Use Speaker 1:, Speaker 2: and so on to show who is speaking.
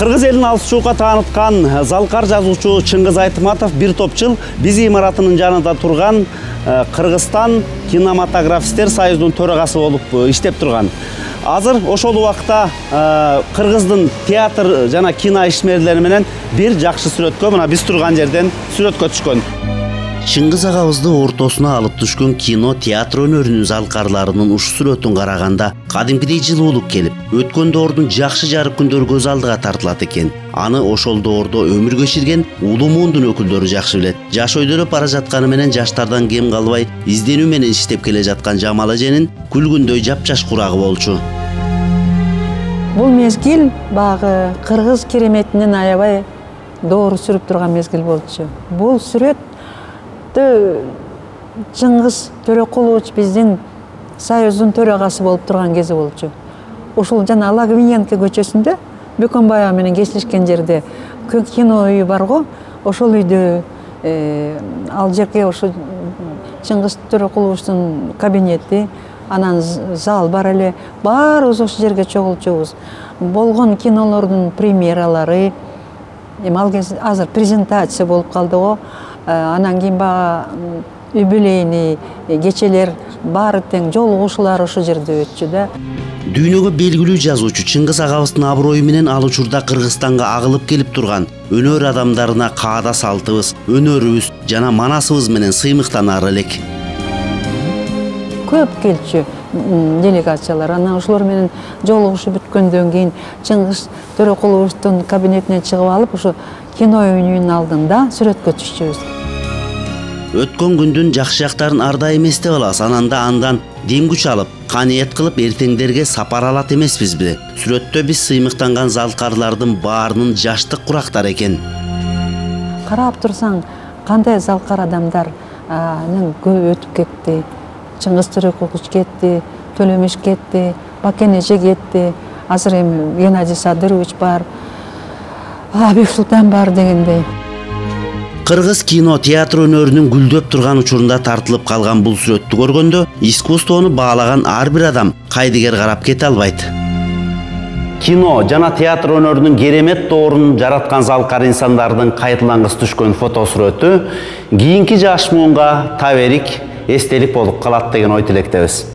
Speaker 1: Кыргыз элин алыс-чуукка тааныткан залкар жазуучу Чыңгыз Айтматов бир топ жыл биз имаратынын жанында турган Кыргызстан кинематографисттер союзунун төрагасы болуп иштеп турган. Азыр ошол убакта Кыргыздын театр жана кино ишмерлери менен бир жакшы сүрөткө мына биз турган жерден сүрөткө түшкөн. Чыңгыз агабызды ортосуна алып түшкөн кино театр өнөрүнүн залкарларынын ушу сүрөтүн караганда кадимкидей жылуулук келип, өткөн доордун жакшы жарык күндөрү көз алдыга тартылат экен. Аны ошол доордо өмүр кечирген улуу муундун өкүлдөрү жакшы билет. Жаш өйдөлөп бара жатканы менен жаштардан кем калбай изденүү менен иштеп келе жаткан Жамал эженин күлгүндөй жапжаш курагы болчу.
Speaker 2: Бул мезгил багы кыргыз кереметинен аябай доору сүрүп турган мезгил болчу. Бул сүрөт Чыңгыз Төрөкулович биздин союздун төрагасы болуп турган кези болчу. Ушул жана Лагвиненко көчөсүндө Бөкөнбаева менен кесилишкен жерде кино үйү бар го. Ошол үйдө ал жерге ошо Чыңгыз Төрөкуловичтин кабинети, анан зал бар эле. Баарыбыз ошол жерге чогулчубуз. Болгон кинолордун премьералары, ал кез азыр презентация болуп калды го. Анан кийин баягы юбилейный кечелер баары тең жолугушуулар ошол жерде өтчү да.
Speaker 1: Дүйнөгө белгилүү жазуучу Чыңгыз агабыздын аброю менен ал учурда Кыргызстанга агылып келип турган өнөр адамдарына каада салтыбыз, өнөрүбүз жана манасыбыз менен сыймыктанаар элек.
Speaker 2: Көп келчү делегациялар. Анан ошолор менен жолугушуп бүткөндөн кийин Чыңгыз Төрөкуловичтин кабинетинен чыгып алып, ошо кино үйүнүн алдында сүрөткө түшчүбүз.
Speaker 1: Өткөн күндүн жакшы жактарын ар дайым эстеп алабыз. Андан дем күч алып, каниет кылып эртеңдерге сапар алат эмеспизби? Сүрөттө биз сыймыктанган залкарлардын баарынын жаштык курактар экен.
Speaker 2: Карап турсаң, кандай залкар адамдар көп өтүп кетти. Чыңгыз Төрөкулович кетти, Төлөмүш кетти, Бакен эже кетти. Азыр эми Геннадий Садырович бар, Бексултан бар дегендей.
Speaker 1: Кыргыз кино театр өнөрүнүн гүлдөп турган учурунда тартылып калган бул сүрөттү көргөндө искусствону баалаган ар бир адам кайдыгер карап кете албайт. Кино жана театр өнөрүнүн керемет доорун жараткан залкар инсандардын кайталангыс түшкөн фото сүрөтү кийинки жаш муунга таберик, эстелик болуп калат деген ой тилектебиз.